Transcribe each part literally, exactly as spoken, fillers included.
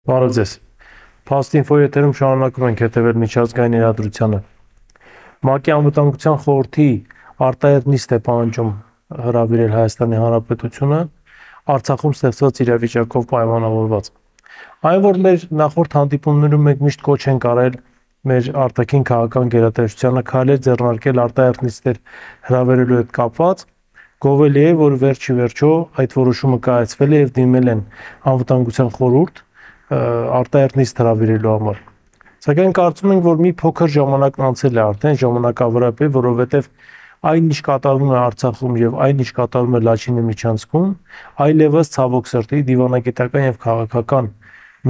Բարև ձեզ։ Փաստինֆո եթերում շարունակում ենք հետևել միջազգային իրադրությանը։ ՄԱԿ-ի անվտանգության խորհրդի արտահերտ նիստ է պահանջում հրավիրել Հայաստանի Հանրապետությունը Արցախում ստեղծված իրավիճակով պայմանավորված։ Այն, որ մեր նախորդ հանդիպումներում մենք միշտ կոչ ենք արել մեր արտաքին քաղաքական գերատեսչությանը քայլեր ձեռնարկել արտահերտ նիստեր հրավիրելու հետ կապված, գովելի է, որ վերջի վերջո այդ որոշումը կայացվել է եւ դիմել են անվտանգության խորհուրդ արտահերտ նիստ հրավիրելու համար։ Սակայն կարծում ենք, որ մի փոքր ժամանակն անցել է արդեն ժամանակավորապես, որովհետև այն ինչ կատարվում է Արցախում եւ այն ինչ կատարվում է Լաչինի միջանցքում, այլևս ցավոք սրտի դիվանագիտական եւ քաղաքական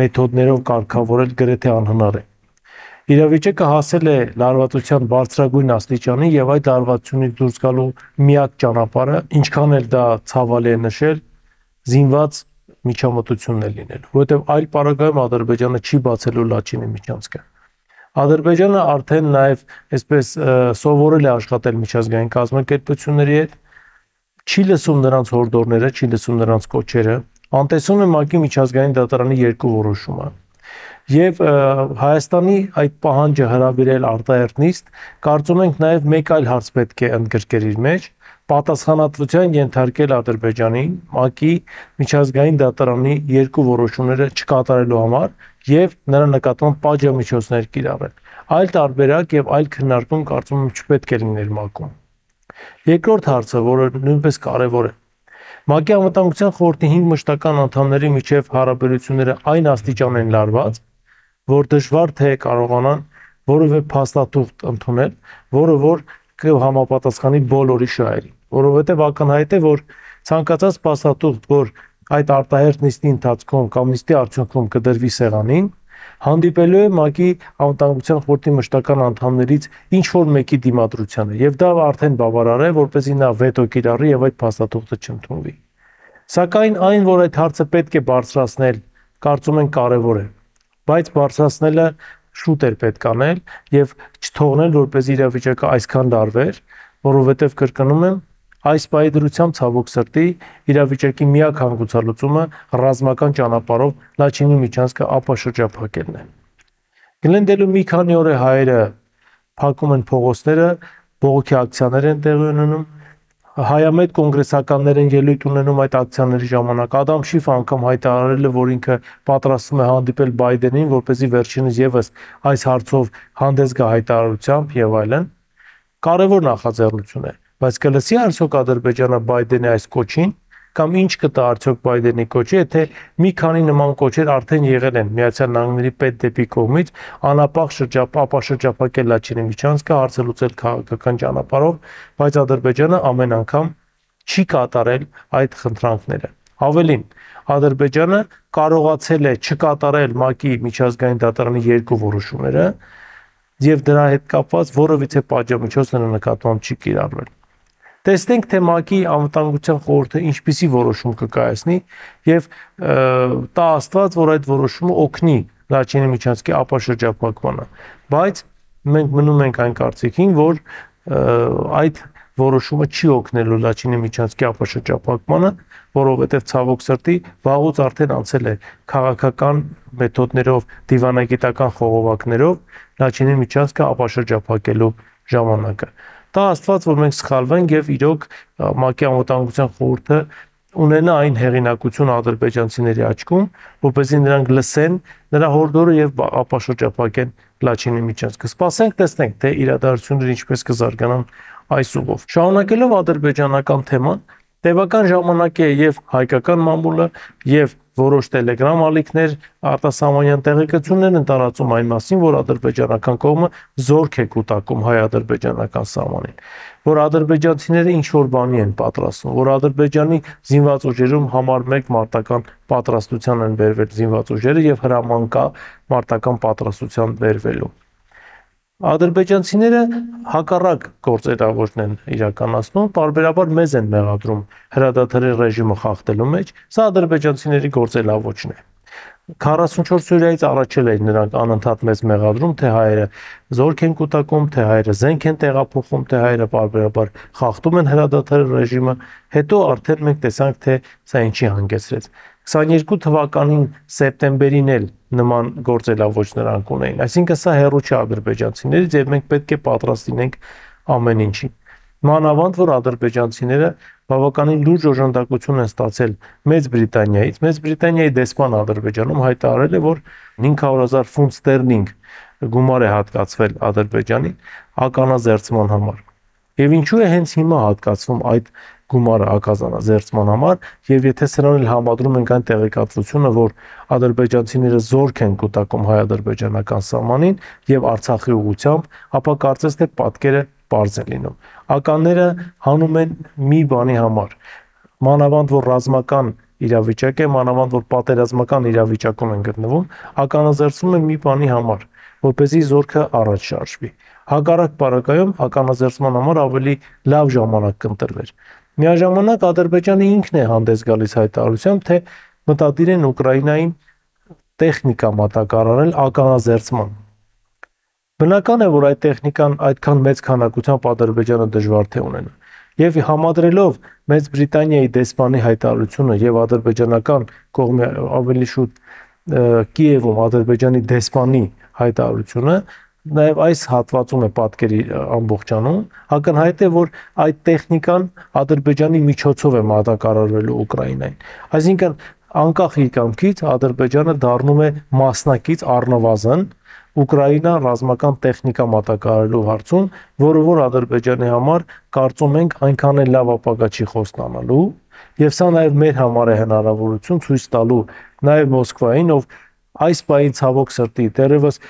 մեթոդներով կարգավորել գրեթե անհնար է։ Իրավիճակը հասել է լարվածության բարձրագույն աստիճանի եւ այդ լարվածությունից դուրս գալու միակ ճանապարհը, ինչքան էլ դա ցավալի է նշել, զինված միջամտությունն է լինելու, որովհետև այլ պարագայում Ադրբեջանը չի բացելու Լաչինի միջանցքը։ Ադրբեջանը արդեն նաև այսպես սովորել է աշխատել միջազգային կազմակերպությունների հետ, չի լսում նրանց հորդորները, չի լսում նրանց կոչերը, անտեսում է ՄԱԿ-ի միջազգային դատարանի երկու որոշումը։ Եվ Հայաստանի այդ պահանջը հրավիրել արտահերտ նիստ, կարծում ենք նաև մեկ այլ հարց պետք է ընդգրկեր իր մեջ, պատասխանատվության ենթարկել Ադրբեջանին ՄԱԿ-ի միջազգային դատարանի երկու որոշումները չկատարելու համար եւ նրա նկատմամբ պատժամիջոցներ կիրառել։ Այլ տարբերակ եւ այլ քննարկում կարծում եմ չպետք է լիներ ՄԱԿ-ում։ Երկրորդ հարցը, որը նույնպես կարեւոր է, ՄԱԿ-ի անվտանգության խորհրդի հինգ մշտական անդամների միջև հարաբերությունները այն աստիճան են լարված, որ դժվար թե կարողանան որևէ փաստաթուղթ ընդունել, որը որ կհամապատասխանի բոլորի շահերին, որովհետև ակնհայտ է, որ ցանկացած փաստաթուղթ, որ այդ արտահերտ նիստի ընթացքում կամ նիստի արդյունքում կդրվի սեղանին, հանդիպելու է ՄԱԿ-ի անվտանգության խորհրդի մշտական անդամներից ինչ որ մեկի դիմադրությանը, եւ դա արդեն բավարար է, որպեսզի նա վետո կիրառի եւ այդ փաստաթուղթը չընդունվի։ Սակայն այն, որ այդ հարցը պետք է բարձրացնել, կարծում ենք կարեւոր է, բայց բարձրացնելը շուտ էր պետք անել եւ չթողնել, որպես իրավիճակը այսքան լարվեր, որովհետեւ կրկնում եմ, այս պահի դրությամբ ցավոք սրտի իրավիճակի միակ հանգուցալուծումը ռազմական ճանապարհով Լաչինի միջանցքը ապաշրջափակելն է։ Գլենդելու մի քանի օր է հայերը փակում են փողոցները, բողոքի ակցիաներ են տեղի ունենում, հայամետ կոնգրեսականներ են ելույթ ունենում այդ ակցիաների ժամանակ։ Ադամ Շիֆը անգամ հայտարարել է, որ ինքը պատրաստվում է հանդիպել Բայդենին, որպեսզի վերջինս եւս այս հարցով հանդես գա հայտարարությամբ եւ այլն։ Կարևոր նախաձեռնություն է, բայց կլսի արդյոք Ադրբեջանը Բայդենի այս կոչին, կամ ինչ կտա արդյոք Բայդենի կոչը, եթե մի քանի նման կոչեր արդեն եղել են Միացյալ Նահանգների պետդեպի կողմից անապահ շրջափակել Լաչինի միջանցքը, հարցը լուծել քաղաքական ճանապարհով, բայց Ադրբեջանը ամեն անգամ չի կատարել այդ խնդրանքները։ Ավելին, Ադրբեջանը կարողացել է չկատարել ՄԱԿ-ի միջազգային դատարանի երկու որոշումները եւ դրա հետ կապված որևիցե պատժամիջոց նրա նկատմամբ չի կիրառվել։ Տեսնենք, թե ՄԱԿ-ի անվտանգության խորհուրդը ինչպիսի որոշում կկայացնի եւ տա Աստված, որ այդ որոշումը օգնի Լաչինի միջանցքի ապաշրջափակմանը, բայց մենք մնում ենք այն կարծիքին, որ այդ որոշումը չի օգնելու Լաչինի միջանցքի ապաշրջափակմանը, որովհետև ցավոք սրտի վաղուց արդեն անցել է քաղաքական մեթոդներով, դիվանագիտական խողովակներով Լաչինի միջանցքը ապաշրջափակելու ժամանակը։ Տա Աստված, որ մենք սխալվենք եւ իրոք ՄԱԿ-ի անվտանգության խորհուրդը ունենա այն հեղինակություն ադրբեջանցիների աչքում, որպեսզի նրանք լսեն նրա հորդորը եւ ապաշրջափակեն Լաչինի միջանցքը։ Սպասենք, տեսնենք, թե իրադարձությունները ինչպես կզարգանան այս ուղով։ Շարունակելով ադրբեջանական թեման, տևական ժամանակ է եւ հայկական մամուլը եւ որոշ տելեգրամ ալիքներ արտասահմանյան տեղեկություններ են տարածում այն մասին, որ ադրբեջանական կողմը զորք է կուտակում հայ-ադրբեջանական սահմանին, որ ադրբեջանցիները ինչ որ բանի են պատրաստում, որ Ադրբեջանի զինված ուժերում համար մեկ մարտական պատրաստության են բերվել զինված ուժերը եւ հրաման կա մարտական պատրաստության բերվելու։ Ադրբեջանցիները հակառակ գործերավորն են իրականացնում, պարբերաբար մեզ են մեղադրում հրադադարի ռեժիմը խախտելու մեջ, սա ադրբեջանցիների գործելավոճն է։ քառասունչորս օրյայից առաջ էլ էին նրանք անընդհատ մեզ մեղադրում, թե հայերը զորք են կուտակում, թե հայերը զենք են տեղափոխում, թե հայերը պարբերաբար խախտում են հրադադարի ռեժիմը, հետո արդեն մենք տեսանք, թե սա ինչի հանգեցրեց։ քսաներկու թվականին սեպտեմբերին էլ նման գործելավոճ նրանք ունեին։ Այսինքն սա հեռու չէ ադրբեջանցիներից եւ մենք պետք է պատրաստ լինենք ամեն ինչին։ Մանավանդ որ ադրբեջանցիները բավականին լուրջ օժանդակություն են ստացել Մեծ Բրիտանիայից։ Մեծ Բրիտանիայի դեսպան Ադրբեջանում հայտարարել է, որ հինգ հարյուր հազար ֆունտ ստերլինգ գումար է հատկացվել Ադրբեջանին ականազերծման համար։ Եվ ինչու է հենց հիմա հատկացվում այդ գումարը ականազերծման համար, եւ եթե սրան էլ համադրում ենք այն տեղեկատվությունը, որ ադրբեջանցիները զորք են կուտակում հայ-ադրբեջանական սահմանին եւ Արցախի ուղությամբ, ապա կարծես թե պատկերը պարզ է լինում։ Ականները հանում են մի բանի համար, մանավանդ որ ռազմական իրավիճակ է, մանավանդ որ պատերազմական իրավիճակում են գտնվում, ականազերծում են մի բանի համար, որպեսզի զորքը առաջ շարժվի։ Հակառակ պարագայում ականազերծման համար ավելի լավ ժամանակ կընտրվեր։ Միաժամանակ Ադրբեջանը ինքն է հանդես գալիս հայտարարությամբ, թե մտադիր են Ուկրաինային տեխնիկա մատակարարել ականազերծման։ Բնական է, որ այդ տեխնիկան այդքան մեծ քանակությամբ Ադրբեջանը դժվար թե ունենա։ Եվ համադրելով Մեծ Բրիտանիայի դեսպանի հայտարարությունը եւ ադրբեջանական կողմի ավելի շուտ Կիևում Ադրբեջանի դեսպանի հայտարարությունը, նաև այս հատվածում է պատկերի ամբողջանում, ակնհայտ է, որ այդ տեխնիկան Ադրբեջանի միջոցով է մատակարարվելու Ուկրաինային։ Այսինքն անկախ իր կամքից Ադրբեջանը դառնում է մասնակից առնվազն Ուկրաինա ռազմական տեխնիկա մատակարարելու հարցում, որը որ Ադրբեջանի համար կարծում ենք այնքան էլ լավ ապագա չի խոստանալու, եւ սա նաեւ մեր համար է հնարավորություն ցույց տալու նաեւ Մոսկվային, ով այս պահին ցավոք սրտի դեռևս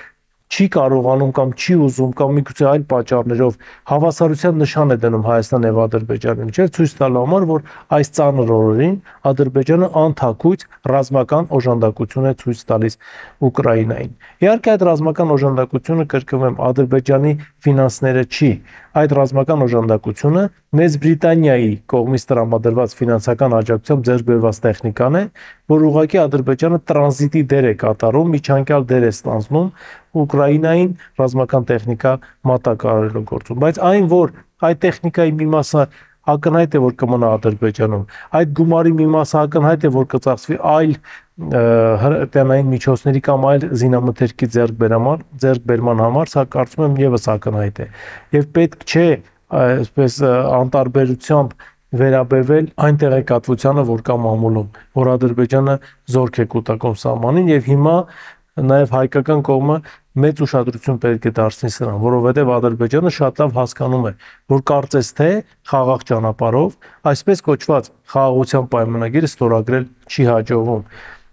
չի կարողանում կամ չի ուզում կամ միգուցե այլ պատճառներով հավասարության նշան է դնում Հայաստան եւ Ադրբեջանի միջեւ, ցույց տալու համար, որ այս ծանր օրերին Ադրբեջանը անթակույց ռազմական օժանդակություն է ցույց տալիս Ուկրաինային։ Իհարկե այդ ռազմական օժանդակությունը, կրկնեմ, Ադրբեջանի ֆինանսները չի, այդ ռազմական օժանդակությունը Մեծ Բրիտանիայի կողմից տրամադրված ֆինանսական աջակցությամբ ձեռք բերված տեխնիկան է, որ ուղղակի Ադրբեջանը տրանզիտի դեր է կատարում, միջանկյալ դեր է ստանձնում Ուկրաինային ռազմական տեխնիկա մատակարարելու գործում, բայց այն, որ այդ տեխնիկայի մի մասը ակնհայտ է, որ կմնա Ադրբեջանում, այդ գումարի մի մասը ակնհայտ է, որ կծախսվի այլ հրետանային միջոցների կամ այլ զինամթերքի ձեռքբերման, ձեռքբերման համար, սա կարծում եմ եւս ակնհայտ է։ Եվ պետք չէ այսպես անտարբերությամբ վերաբերվել այն տեղեկատվությանը, որ կա մամուլում, որ Ադրբեջանը զորք է կուտակում սահմանին, եւ հիմա նաև հայկական կողմը մեծ ուշադրություն պետք է դարձնի սրան, որովհետև Ադրբեջանը շատ լավ հասկանում է, որ կարծես թե խաղաղ ճանապարհով այսպես կոչված խաղաղության պայմանագիրը ստորագրել չի հաջողվում։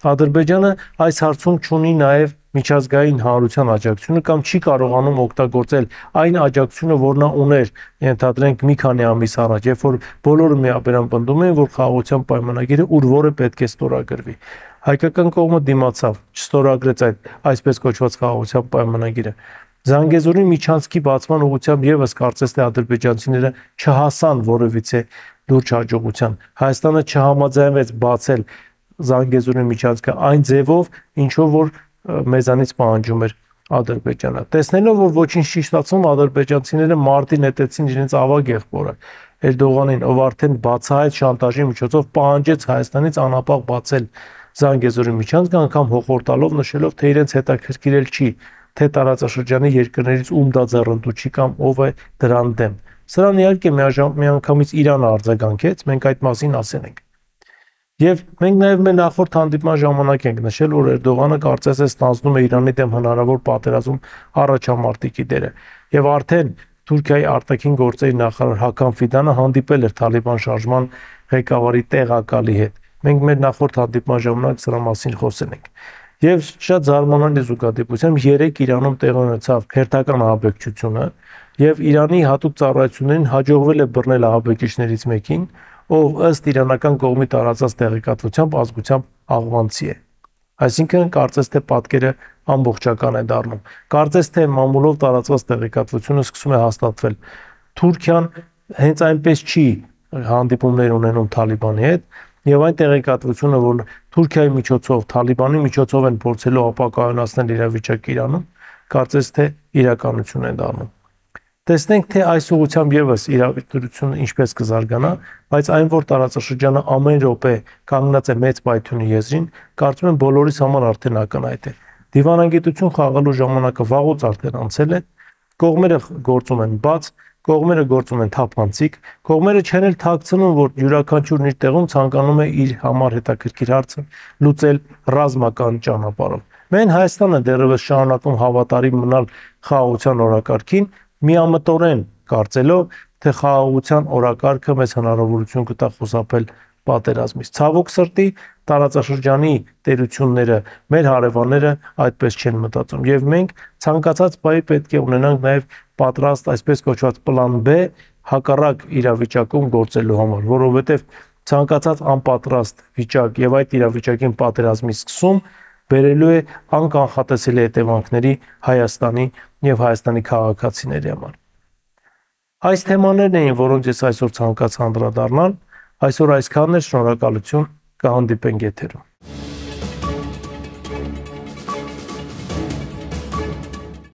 Ադրբեջանը այս հարցում չունի նաև միջազգային հանրության աջակցությունը կամ չի կարողանում օգտագործել այն աջակցությունը, որ նա ուներ, ենթադրենք մի քանի ամիս առաջ, երբ որ բոլորը միաբերան պնդում էին, որ խաղաղության պայմանագիրը ուր որը պետք է ստորագրվի։ Հայկական կողմը դիմացավ, չստորագրեց այդ այսպես կոչված խաղաղության պայմանագիրը։ Զանգեզուրի միջանցքի բացման ուղղությամբ եւս կարծես թե ադրբեջանցիները չհասան որևիցե լուրջ հաջողության։ Հայաստանը չհամաձայնվեց բացել Զանգեզուրի միջանցքը այն ձևով, ինչով որ մեզանից պահանջում էր Ադրբեջանը։ Տեսնելով, որ ոչինչ չի ստացվում, ադրբեջանցիները մարտի նետեցին իրենց ավագ եղբորը Էրդողանին, ով արդեն բացահայտ շանտաժի միջոցով պահանջեց Հայաստանից անապահ բացել Զանգեզուրի միջանցքը, անգամ հոխորտալով նշելով, թե իրենց հետաքրքիրել չի, թե տարածաշրջանի երկրներից ում դա ձեռնտու չի կամ ով է դրան դեմ։ Սրան իհարկե միանգամից Իրանը արձագանքեց, մենք այդ մասին ասենք։ Եվ մենք նաև մեր նախորդ հանդիպման ժամանակ ենք նշել, որ Էրդողանը կարծես է ստանձնում է Իրանի դեմ հնարավոր պատերազմ առաջամարտիկի դերը։ Եվ արդեն Թուրքիայի արտաքին գործերի նախարար Հական Ֆիդանը հանդիպել էր Թալիբան շարժման ղեկավարի տեղակալի հետ։ Մենք մեր նախորդ հանդիպման ժամանակ սրա մասին խոսել ենք։ Եվ շատ զարմանալի զուգադիպությամբ երեք Իրանում տեղի ունեցավ հերթական ահաբեկչությունը, եւ Իրանի հատուկ ծառայություններին հաջողվել է բռնել ահաբեկիչներից մեկին, ով ըստ իրանական կողմի տարածած տեղեկատվությամբ ազգությամբ աղվանցի է։ Այսինքն կարծես թե պատկերը ամբողջական է դառնում։ Կարծես թե մամուլով տարածված տեղեկատվությունը սկսում է հաստատվել։ Թուրքիան հենց այնպես չի հանդիպումներ ունենում Թալիբանի հետ, եւ այն տեղեկատվությունը, որ Թուրքիայի միջոցով, Թալիբանի միջոցով են փորձելու ապակայունացնել իրավիճակը Իրանում, կարծես թե իրականություն է դառնում։ Տեսնենք, թե այս ուղղությամբ եւս իրավիճակությունը ինչպես կզարգանա, բայց այն, որ տարածաշրջանը ամեն րոպե կանգնած է մեծ պայթյունի եզրին, կարծում եմ բոլորիս համար արդեն ակնհայտ է։ Դիվանագիտություն խաղալու ժամանակը վաղուց արդեն անցել է, կողմերը գործում են բաց, կողմերը գործում են թափանցիկ, կողմերը չեն էլ թաքցնում, որ յուրաքանչյուրն իր տեղում ցանկանում է իր համար հետաքրքիր հարցը լուծել ռազմական ճանապարհով։ Մենք Հայաստանը դեռևս շարունակում հավատարիմ մնալ խաղաղության օրակարգին, միամտորեն կարծելով, թե խաղաղության օրակարգը մեզ հնարավորություն կտա խուսափել պատերազմից։ Ցավոք սրտի, տարածաշրջանի տերությունները, մեր հարևանները այդպես չեն մտածում, եւ մենք ցանկացած բայի պետք է ունենանք նաեւ պատրաստ այսպես կոչված պլան B հակառակ իրավիճակում գործելու համար, որովհետեւ ցանկացած անպատրաստ վիճակ եւ այդ իրավիճակին պատերազմի սկսում բերելու է անկանխատեսելի հետևանքների Հայաստանի եւ Հայաստանի քաղաքացիների համար։ Այս թեմաներն էին, որոնց ես այսօր ցանկացա անդրադառնալ, այսօր այսքանն է, շնորհակալություն, կհանդիպենք եթերում։